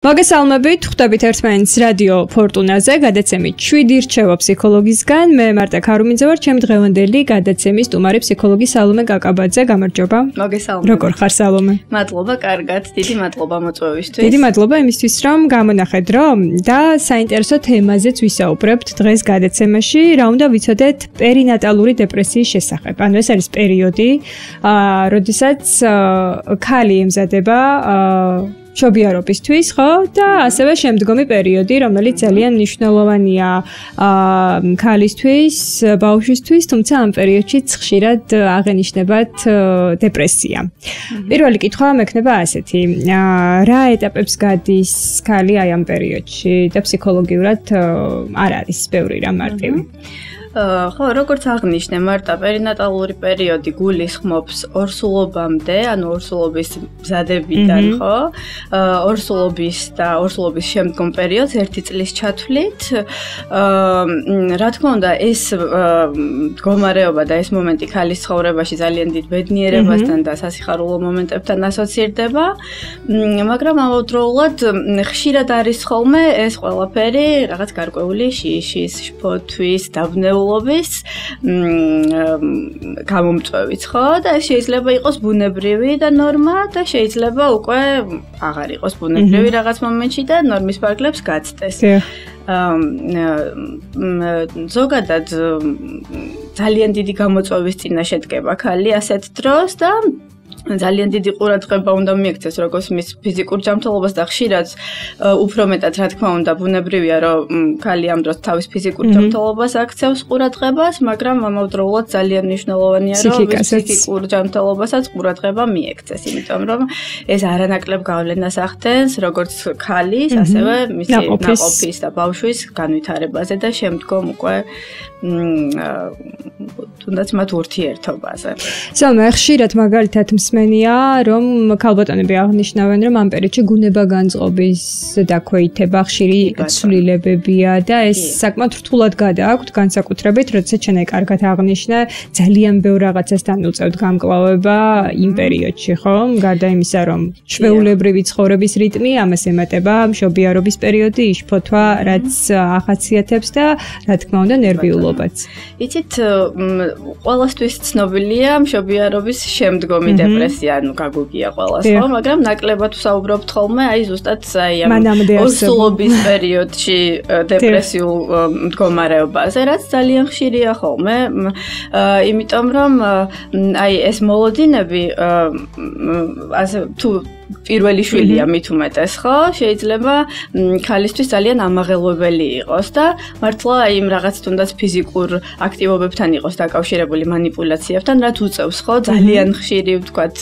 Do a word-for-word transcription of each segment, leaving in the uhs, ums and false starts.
მოგესალმებით, ხვდებით ერთმანეთს რადიო ფორტუნაზე, გადაცემით შვიდი რჩევა ფსიქოლოგისგან. მე მარტა ქარუმიძე ვარ, ჩემი დღევანდელი გადაცემის სტუმარი ფსიქოლოგი სალომე კაკაბაძე, გამარჯობა. მოგესალმებით. როგორ ხარ სალომე? მადლობა, კარგად. დიდი მადლობა მოწვევისთვის. დიდი მადლობა იმისთვის, რომ გამონახეთ რომ და საინტერესო თემაზეც ვისაუბრებთ დღეს გადაცემაში, რა უნდა ვიცოდეთ პერინატალური დეპრესიის შესახებ. ანუ ეს არის პერიოდი, აა, როდესაც ქალი ემზადება აა შობიარობისთვის, ხო? და ასევე შემდგომი პერიოდი, რომელიც ძალიან მნიშვნელოვანია აა ქალისთვის, ბავშვისთვის, თუმცა ამ პერიოდშიც ხშირად აღენიშნებათ დეპრესია. პირველი კითხვა მექნება ასეთი: რა ეტაპებს გადის ხალი აი ამ პერიოდში და ფსიქოლოგიურად არ არის ბევრი რა მარტივი? ხო, როგორც აღნიშნე, მარტა პერინატალური პერიოდი გულისხმობს ორსულობამდე, ანუ ორსულობის მზადებიდან, ხო? ორსულობის და ორსულობის შემდგომ პერიოდს ერთი წლის ჩათვლით. რა თქმა უნდა, ეს მდგომარეობა და ეს მომენტი ქალის ცხოვრებაში ძალიან დიდ ბედნიერებასთან და სასიხარულო მომენტებთან ასოცირდება, მაგრამ ამავდროულად ხშირად არის ხოლმე ეს ყველაფერი რაღაც გარკვეული შიშის, შფოთვის, დავნეულობის ლობის გამომწვევიც, ხო? და შეიძლება იყოს ბუნებრივი და ნორმა და შეიძლება უკვე აღარ იყოს ბუნებრივი რაღაც მომენტში და ნორმის ფარგლებს გაცდეს. ზოგადად ძალიან დიდი გამოწვევის წინაშე დგება ქალი ასეთ დროს და ძალიან დიდი ყურადღება უნდა მიექცეს როგორც მის ფიზიკურ ჯანმრთელობას და ხშირად უფრო მეტად რა თქმა უნდა ბუნებრივია რომ ქალი ამ დროს თავის ფიზიკურ ჯანმრთელობას აქცევს ყურადღებას, მაგრამ ამავდროულად ძალიან მნიშვნელოვანია რომ ფიზიკურ ჯანმრთელობასაც ყურადღება მიექცეს, იმიტომ რომ ეს არანაკლებ გავლენას ახდენს როგორც ქალის, ასევე მისი ნაყოფის და ბავშვის განვითარებაზე და შემდგომ უკვე თუნდაც მათ ურთიერთობაზე. სალმე, ხშირად მაგალითად მსმენია, რომ ქალბატონები აღნიშნავენ, რომ ამ პერიოდში გუნება განწყობის დაქვეითება ხშირი ცვლილებებია და ეს საკმაოდ რთულად გადააქვთ, განსაკუთრებით, როდესაც შენ კარგად აღნიშნე, ძალიან ბევრ რაღაცასთან უწევთ გამკლავება იმ პერიოდში, ხო? გარდა იმისა, რომ ჩვეულებრივი ცხოვრების რიტმი, ამას ემატება მშობიარობის პერიოდი, შფოთვა, რაც ახასიათებს და რა თქმა უნდა ნერვიულობაც. იცით, ყველასთვის ცნობილია მშობიარობის შემდგომი დეპრესია, ანუ გაგუგია ყველას, ხო? მაგრამ ნაკლებად ვსაუბრობთ ხოლმე აი ზუსტად აი ამ ორსულობის პერიოდში დეპრესიულ მდგომარეობაზე, რაც ძალიან ხშირია ხოლმე, იმიტომ რომ აი ეს მოლოდინები ასე თუ პირველი შვილია მით უმეტეს, ხო? შეიძლება ქალისთვის ძალიან ამაღელვებელი იყოს და მართლა იმ რაღაც თუნდაც ფიზიკურ აქტივობებთან იყოს დაკავშირებული მანიპულაციებთან, რაც უწევს, ხო? ძალიან ხშირი ვთქვათ,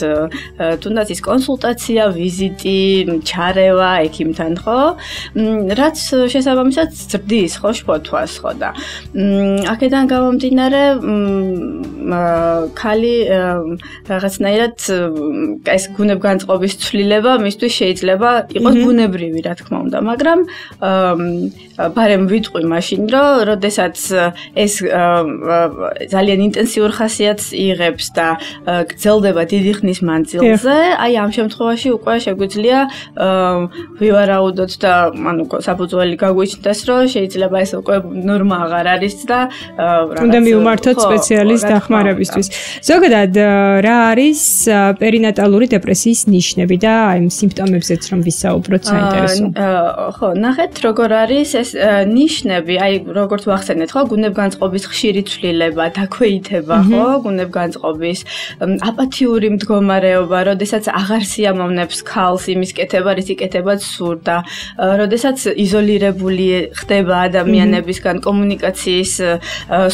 თუნდაც ის კონსულტაცია, ვიზიტი, ჩარევა ექიმთან, ხო? რაც შესაბამისად ზრდის, ხო, შფოთვას, ხო და აქედან გამომდინარე ქალი რაღაცნაირად ეს გუნებგანწყობის ცვლილება მისთვის შეიძლება იყოს ბუნებრივი, რა თქმა უნდა, მაგრამ ბარემ ვიტყვი მაშინ, რომ როდესაც ეს ძალიან ინტენსიურ ხასიათს იღებს და გრძელდება დიდი ხნის მანძილზე, აი ამ შემთხვევაში უკვე შეგვიძლია ვივარაუდოთ და ანუ საფუძველი გაგვიჩნდეს, რომ შეიძლება ეს უკვე ნორმა აღარ არის და უნდა მივმართოთ სპეციალისტ დახმარებისთვის. ზოგადად რა არის პერინატალური დეპრესიის ნიშნები და აი იმ სიმპტომებზეც რომ ვისაუბროთ საინტერესო. ხო, ნახეთ როგორ არის ეს ნიშნები, აი როგორც ვახსენეთ, ხო, გუნებგანწყობის ხშირი ცვლილება, დაქვეითება, ხო, გუნებგანწყობის აპათიური მდგომარეობა, როდესაც აღარ სიამოვნებს ქალს იმის კეთება, რისი კეთებაც სურდა, როდესაც იზოლირებული ხდება ადამიანებისგან კომუნიკაციის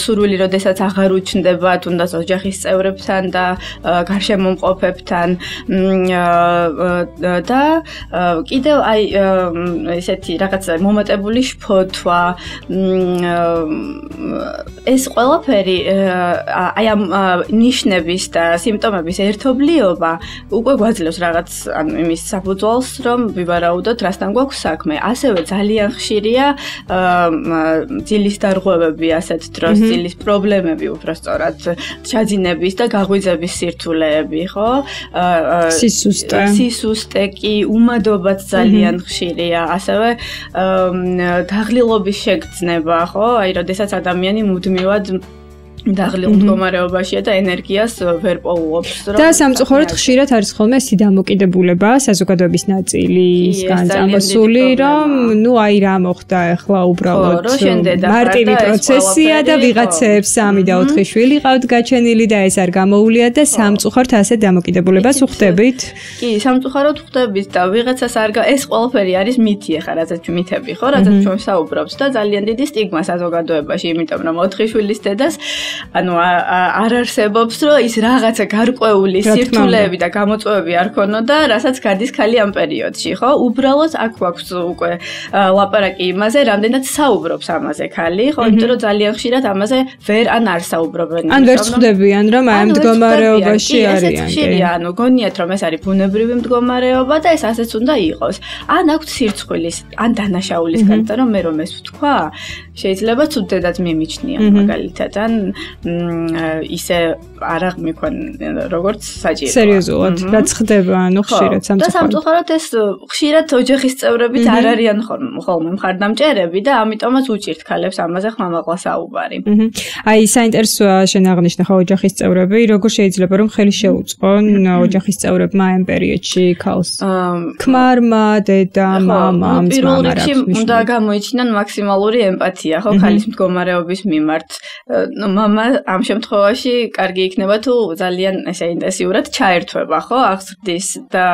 სურვილი, როდესაც აღარ უჩნდება თუნდაც ოჯახის წევრებთან და გარშემომყოფებთან და კიდევ აი ესეთი რაღაც მომატებული შფოთვა, ეს ყველაფერი აი ამ ნიშნების და სიმპტომების ერთობლიობა უკვე გვაძლევს რაღაც ანუ იმის საფუძველს, რომ ვივარაუდოთ, რასთან გვაქვს საქმე. ასევე ძალიან ხშირია ძილის დარღვევები ასეთ დროს, ძილის პრობლემები უბრალოდ ჩაძინების და გაღვიძების სირთულეები, ხო? სისუსტე. სუსტეკი, უმადობაც ძალიან ხშირია, ასევე დაღლილობის შეგრძნება, ხო? აი, როდესაც ადამიანი მუდმივად დაღლილ მდგომარეობაშია და ენერგიას ვერ პოულობს, რომ და სამწუხაროდ ხშირად არის ხოლმე სიდამოკიდებულება საზოგადოების ნაწილისგან წამოსული, რომ ნუ აი რა მოხდა ახლა უბრალოდ მარტივი პროცესია და ვიღაცებს სამი და ოთხი შვილი ყავთ გაჩენილი და ეს არ გამოუვლიათ და სამწუხაროდ ასე დამოკიდებულებას უხდებით. კი, სამწუხაროდ ვხდებით და ვიღაცას არ ეს ყველაფერი არის მითი ახლა, რაზეც მითები ხო, რაზეც ჩვენ საუბრობთ და ძალიან დიდი სტიგმა საზოგადოებაში, იმიტომ რომ ოთხი შვილის დედას ანუ არ არსებობს, რომ ის რაღაცა გარკვეული სირთულეები და გამოწვევები არ ქონოდა, რასაც გადის ხალი ამ პერიოდში, ხო? უბრალოდ აქ გვაქვს უკვე ლაპარაკი იმაზე, რამდენად საუბრობს ამაზე ხალი, ხო? იმიტომ რომ ძალიან ხშირად ამაზე ვერ ან არ საუბრობენ. ან ვერ ხვდებიან, რომ აი ამ მდგომარეობაში არიან. ეს ხშირია, ანუ გონიათ, რომ ეს არის ბუნებრივი მდგომარეობა და ეს ასეც უნდა იყოს. ან აქვს სირცხვილის, ან დანაშაულის გარდა, რომ მე რომ ეს ვთქვა, შეიძლება თუ დედაც მიმიჩნია მაგალითად, ან ისე არ აღმიქონ როგორც საჭირო. სერიოზულად, რაც ხდება, ანუ ხშირად სამწუხაროდ. და სამწუხაროდ ეს ხშირად ოჯახის წევრებიც არ არიან ხოლმე მხარდამჭერები და ამიტომაც უჭირთ ქალებს ამაზე ხმამაღლა საუბარი. აი, საინტერესოა შენ აღნიშნე ხო ოჯახის წევრები, როგორ შეიძლება რომ ხელი შეუწყონ ოჯახის წევრებმა ამ პერიოდში ქალს? ქმარმა, დედამ, მამამ, პირველ რიგში უნდა გამოიჩინონ მაქსიმალური ემპათია, ხო, ქალის მდგომარეობის მიმართ. ნუ მამა ამ შემთხვევაში კარგი იქნება თუ ძალიან ესე ინტენსიურად ჩაერთვება, ხო, აღზრდის და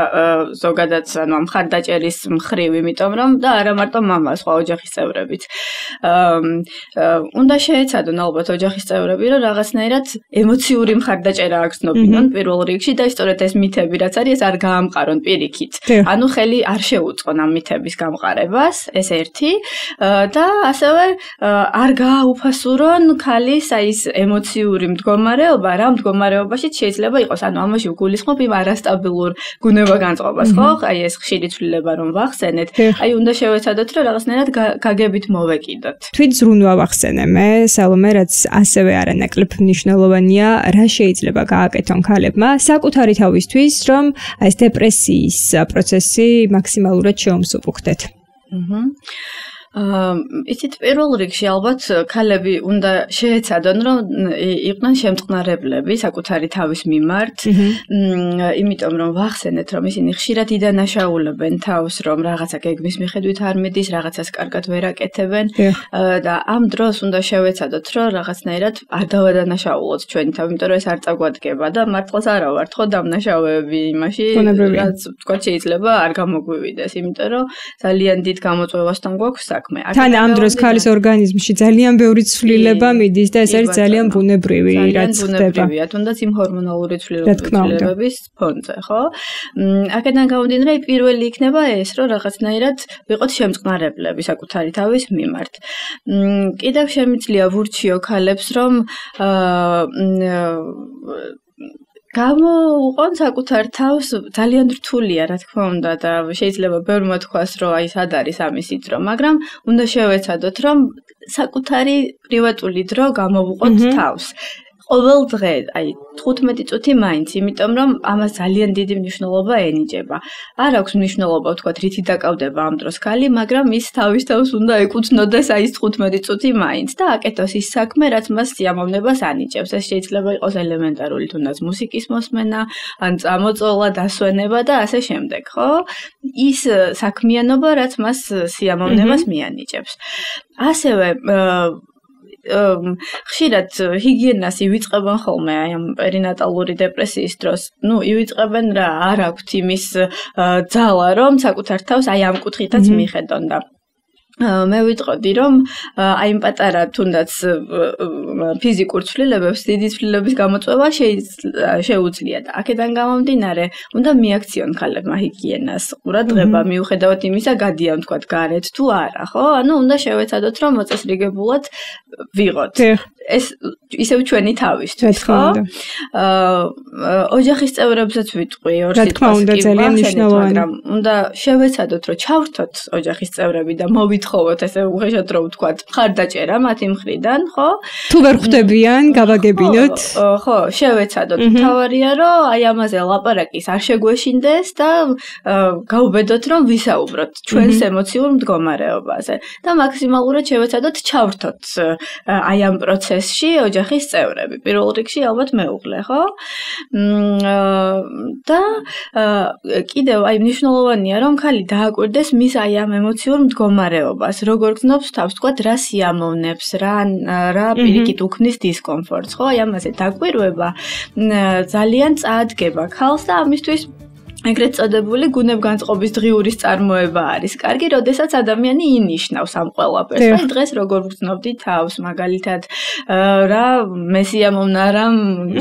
ზოგადად ანუ ამ ხარდაჭერის მხრივ, იმიტომ რომ და არა მარტო მამა, სხვა ოჯახის წევრებიც. უნდა შეეცადონ ალბათ ოჯახის წევრები, რომ რაღაცნაირად ემოციური მხარდაჭერა აგრძნობინონ პირველ რიგში და სწორედ ეს მითები რაც არის, ეს არ გაამყარონ პირიქით. ანუ ხელი არ შეუწყონ ამ მითების გამყარებას, ეს ერთი და ასევე არ გააუფასურონ ქალის აი ეს ემოციური მდგომარეობა, რა მდგომარეობაში შეიძლება იყოს, ანუ ამაში უგულისხმობ იმ არასტაბილურ გუნება-განწყობას, ხო? აი ეს ხშირი ცვლილება რომ ვახსენეთ, აი უნდა შევეცადოთ, რომ რაღაცნაირად გაგებით მოვეკიდოთ. თვით ზრუნვა ვახსენე მე, სალომე, რაც ასევე არანაკლებ მნიშვნელოვანია, რა შეიძლება გააკეთონ ქალებმა საკუთარი თავისთვის, რომ ეს დეპრესიის პროცესი მაქსიმალურად შეუმსუბუქდეთ. აჰა. იცით პირველ რიგში ალბათ ქალები უნდა შეეცადონ რომ იყვნენ შემწყნარებლები საკუთარი თავის მიმართ, იმიტომ რომ ვახსენეთ რომ ისინი ხშირად იდანაშაულებენ თავს, რომ რაღაცა გეგმის მიხედვით არ მიდის, რაღაცას კარგად ვერ აკეთებენ და ამ დროს უნდა შევეცადოთ რომ რაღაცნაირად არ დავადანაშაულოთ ჩვენი თავი, იმიტომ რომ ეს არ წაგვადგება და მართლაც არა ვართ ხო დამნაშავეები იმაში, რაც თქვა შეიძლება არ გამოგვივიდეს, იმიტომ რომ ძალიან დიდ გამოწვევასთან გვაქვს თან ამ დროს ქალის ორგანიზმში ძალიან ბევრი ცვლილება მიდის და ეს არის ძალიან ბუნებრივი, რაც ხდება. თუნდაც იმ ჰორმონალური ცვლილებების ფონზე, ხო? აქედან გამომდინარე, პირველი იქნება ეს, რომ რაღაცნაირად ვიყოთ შემწყნარებლები საკუთარი თავის მიმართ. კიდევ შემიძლია ვურჩიო ქალებს, რომ გამოუყონ საკუთარ თავს ძალიან რთულია, რა თქმა უნდა და შეიძლება ბევრმა თქვას, რომ აი სად არის ამისი დრო, მაგრამ უნდა შევეცადოთ, რომ საკუთარი პრივატული დრო გამოვუყოთ თავს. ყოველ დღე, აი თხუთმეტი წუთი მაინც, იმიტომ რომ ამას ძალიან დიდი მნიშვნელობა ენიჭება. არ აქვს მნიშვნელობა, ვთქვათ, რითი დაკავდება ამ დროს ქალი, მაგრამ ის თავის თავს უნდა ეკუთვნოდეს აი ეს თხუთმეტი წუთი მაინც და აკეთოს ის საქმე, რაც მას სიამოვნებას ანიჭებს. ეს შეიძლება იყოს ელემენტარული თუნდაც მუსიკის მოსმენა, ან წამოწოლა, დასვენება და ასე შემდეგ, ხო? ის საქმიანობა, რაც მას სიამოვნებას მიანიჭებს. ასევე ხშირად ჰიგიენას ივიწყებენ ხოლმე აი ამ პერინატალური დეპრესიის დროს. ნუ ივიწყებენ რა, არ აქვთ იმის ძალა, რომ საკუთარ თავს აი ამ კუთხითაც მიხედონ და მე ვიტყოდი, რომ აი იმ პატარა თუნდაც ფიზიკურ ცვლილებებს დიდი ცვლილების გამოწვევა შეუძლია და აქედან გამომდინარე, უნდა მიაქციონ ქალებმა ჰიგიენას ყურადღება, მიუხედავად იმისა, გადიან თქვათ გარეთ თუ არა, ხო? ანუ უნდა შევეცადოთ, რომ მოწესრიგებულად ვიღოთ. ეს ისევ ჩვენი თავისთვის, ხო? აა ოჯახის წევრებსაც ვიტყვი ორ სიტყვას, მაგრამ უნდა შევეცადოთ, რომ ჩავრთოთ ოჯახის წევრები და მოვით ხოვოთ ესე უხეშად რომ ვთქვათ, მხარდაჭერა მათი მხრიდან, ხო? თუ ვერ ხვდებიან, გავაგებინოთ. ხო, შევეცადოთ. თავარია რომ აი ამაზე ლაპარაკის არ შეგვეშინდეს და გავუბედოთ რომ ვისაუბროთ ჩვენს ემოციურ მდგომარეობაზე და მაქსიმალურად შევეცადოთ ჩავრთოთ აი ამ პროცესში ოჯახის წევრები. პირველ რიგში ალბათ მეუღლე, ხო? და კიდევ აი მნიშვნელოვანია რომ ხალი დააკვირდეს მის აი ამ ემოციურ მდგომარეობას, როგორ გრძნობს თავს, თქვა რა სიამოვნებს, რა რა პირიქით უქმნის დისკომფორტს, ხო? აი ამაზე დაკვირვება ძალიან წაადგება ხალხს და ამისთვის ეგრეთ წოდებული გუნებგანწყობის დღიურის წარმოება არის. კარგი, როდესაც ადამიანი ინიშნავს ამ ყველაფერს. და დღეს როგორ გრძნობდი თავს, მაგალითად, რა მე სიამოვნა, რა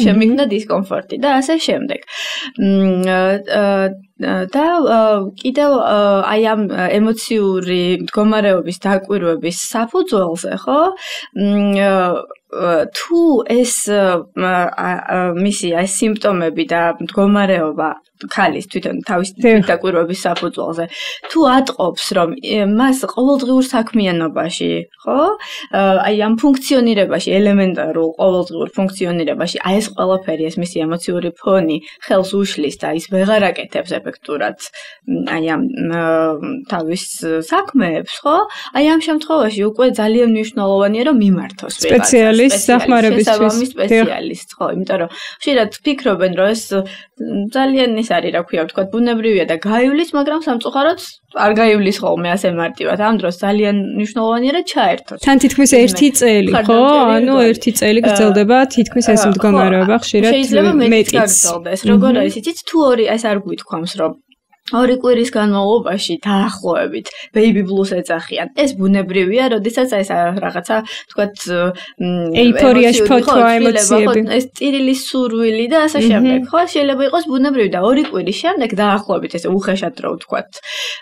შემიგნა დისკომფორტი და ასე შემდეგ. და კიდევ აი ამ ემოციური მდგომარეობის დაკვირვების საფუძველზე, ხო? თუ ეს მისი აი სიმპტომები და მდგომარეობა ხალის თვითონ თავის დაკვირვების საფუძველზე თუ ატყობს რომ მას ყოველდღიურ საქმიანობაში, ხო? აი ამ ფუნქციონირებაში, ელემენტარულ ყოველდღიურ ფუნქციონირებაში აი ეს ყველაფერი, ეს მისი ემოციური ფონი ხელს უშლის და ის ვეღარ აკეთებს ეფექტურად აი ამ თავის საქმეებს, ხო? აი ამ შემთხვევაში უკვე ძალიან მნიშვნელოვანია რომ მიმართოს სპეციალისტ სახმარებისთვის სპეციალისტ, ხო, იმიტომ რომ ხშირად ფიქრობენ რომ ეს ძალიან ის არის, რა ქვია, ვთქვათ, ბუნებრივია და გაივლის, მაგრამ სამწუხაროდ არ გაივლის ხოლმე ასე მარტივად. ამ დროს ძალიან მნიშვნელოვანია რომ ჩაერთოს. თან თითქმის ერთი წელი, ხო? ანუ ერთი წელი გრძელდება თითქმის ეს მდგომარეობა ხშირად მეტიც. შეიძლება მეტიც გაგრძელდეს. როგორ არის, იცით, თუ ორი ეს არ გვითქვამს, რომ ორი კვირის განმავლობაში დაახლოებით baby blues ეძახიან. ეს ბუნებრივია, როდესაც აი ეს რაღაცა, ვთქვათ, ეიფორიაში ფოთვა ემოციები. ეს წირილის სურვილი და ასე შემდეგ. ხო, შეიძლება იყოს ბუნებრივი და ორი კვირის შემდეგ დაახლოებით ესე უხეშად რო ვთქვათ.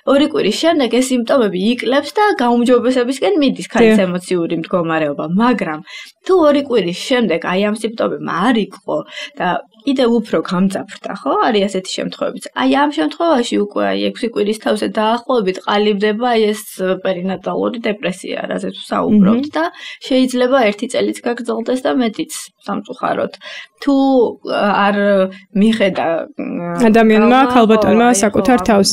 ორი კვირის შემდეგ ეს სიმპტომები იკლებს და გაუმჯობესებისკენ მიდის ხალის ემოციური მდგომარეობა, მაგრამ თუ ორი კვირის შემდეგ აი ამ სიმპტომებმა არ იყო და კიდევ უფრო გამძაფრდა, ხო? არის ასეთი შემთხვევებიც. აი ამ შემთხვევაში უკვე აი ექვსი კვირის თავზე დაახლოებით ყალიბდება ეს პერინატალური დეპრესია, რაზეც ვსაუბრობთ და შეიძლება ერთი წელიც გაგრძელდეს და მეტიც სამწუხაროდ. თუ არ მიხედა ადამიანმა, ქალბატონმა საკუთარ თავს.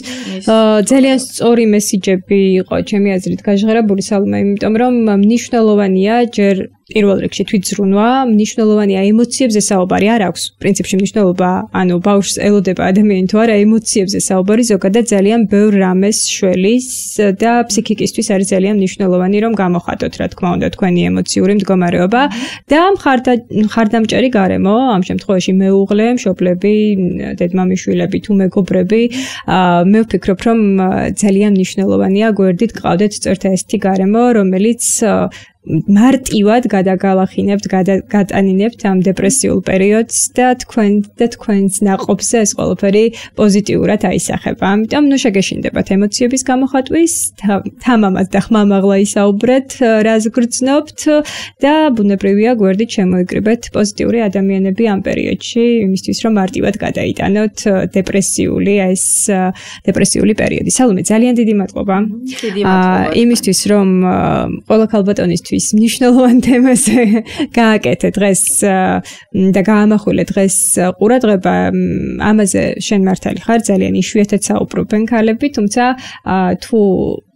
ძალიან სწორი მესიჯები იყო ჩემი აზრით გაჟღერებული სალმა, იმიტომ რომ მნიშვნელოვანია ჯერ პირველ რიგში თვითზრუნვა, მნიშვნელოვანია ემოციებზე საუბარი არ აქვს. პრინციპში მნიშვნელობა, ანუ ბავშვს ელოდება ადამიანი თუ არა, ემოციებზე საუბარი ზოგადად ძალიან ბევრ რამეს შველის და ფსიქიკისთვის არის ძალიან მნიშვნელოვანი რომ გამოხატოთ, რა თქმა უნდა, თქვენი ემოციური მდგომარეობა და მხარდამჭერი გარემო, ამ შემთხვევაში მეუღლე, მშობლები, დედმამიშვილები თუ მეგობრები, მე ვფიქრობ, რომ ძალიან მნიშვნელოვანია გვერდით გყავდეთ წერთა ესეთი გარემო, რომელიც მარტივად გადაგალახინებთ, გადატანინებთ ამ დეპრესიულ პერიოდს და თქვენ და თქვენს ნაყოფზე ეს ყველაფერი პოზიტიურად აისახება. ამიტომ ნუ შეგეშინდებათ ემოციების გამოხატვის, თამამად და ხმამაღლა ისაუბრეთ, რას გრძნობთ და ბუნებრივია გვერდით შემოიკრიბეთ პოზიტიური ადამიანები ამ პერიოდში, იმისთვის რომ მარტივად გადაიტანოთ დეპრესიული ეს დეპრესიული პერიოდი. სალომე, ძალიან დიდი მადლობა. დიდი მადლობა. იმისთვის რომ ყველა ქალბატონისთვის მნიშვნელოვან თემაზე გააკეთე დღეს და გაამახვილე დღეს ყურადღება, ამაზე შენ მართალი ხარ, ძალიან იშვიათად საუბრობენ ქალები, თუმცა თუ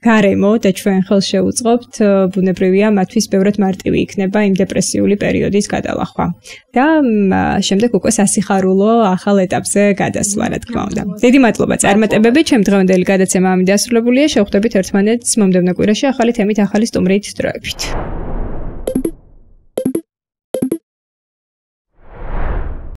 გარემო და ჩვენ ხელს შევუწყობთ, ბუნებრივია მათთვის ბევრად მარტივი იქნება იმ დეპრესიული პერიოდის გადალახვა. და შემდეგ უკვე სასიხარულო ახალ ეტაპზე გადასვლა, რა თქმა უნდა. დიდი მადლობა წარმატებები, ჩემ დღევანდელი გადაცემა ამით დასრულებულია. შევხვდებით ერთმანეთს მომდევნო კვირაში ახალი თემით, ახალი სტუმრით, დროებით.